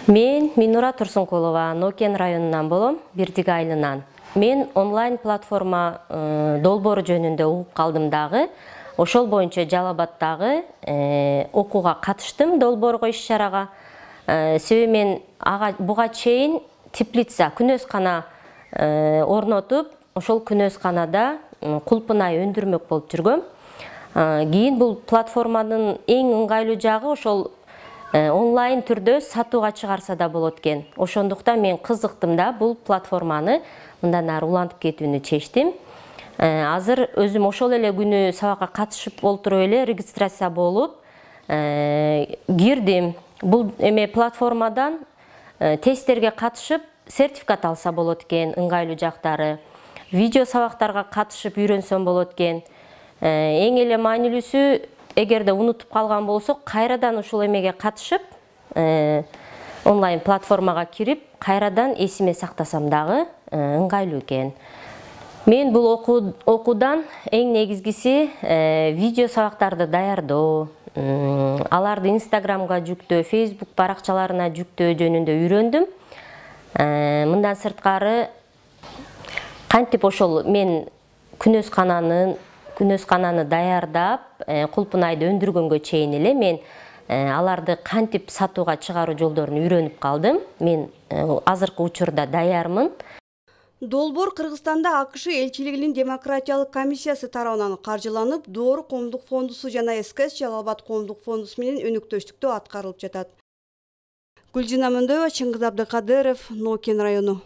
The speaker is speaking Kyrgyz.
Мен Минура Турсункулова, Нокен районунан болом, Бирдик айылынан. Мен онлайн платформа долбоору жөнүндө угуп калдым дагы. Ошол боюнча Жалал Абаддагы окууга катыштым, долбоорго иш-чарага. Себеби мен буга чейин теплица, күнөскана орнотуп, ошол күнөсканада кулпунай өндүрмөк болуп жүргөм. Кийин бул платформанын эң ыңгайлуу жагы ошол онлайн түрдө сатууга чыгарса да болот экен. Ошондуктан мен кызыктым да бул платформаны мындан ары улантып кетүүнү чечтим. Азыр өзүм ошол эле күнү сабакка катышып олтуруп эле регистрация болуп кирдим. Бул платформадан тесттерге катышып сертификат алса болот экен, ыңгайлуу жактары. Видео сабактарга катышып үйрөнсөм болот экен. Эң эле маанилүүсү, эгерде унутуп калган болсок, кайрадан ушул эмеге катышып, онлайн платформага кирип, кайрадан эсиме сактасам дагы ыңгайлуу экен. Мен бул окуудан эң негизгиси видео сабактарды даярдоо, аларды Instagramга жүктөө, Facebook баракчаларына жүктөө жөнүндө үйрөндүм. Мындан сырткары кантип ошол мен күнөскананы даярдап, кулпунайды өндүргөнгө чейин эле мен аларды кантип сатууга чыгаруу жолдорун үйрөнүп калдым. Мен азыркы учурда даярмын. Долбоор Кыргызстанда АКШ элчилигинин демократиялык комиссиясы тарабынан каржыланып, Доор коомдук фондусу жана СКС Жалал Абад коомдук фондусу менен өнөктөштүктө аткарылып жатат. Гүлжина Мөндөгова, Чыңгыз Абдыкадыров, Нокен району.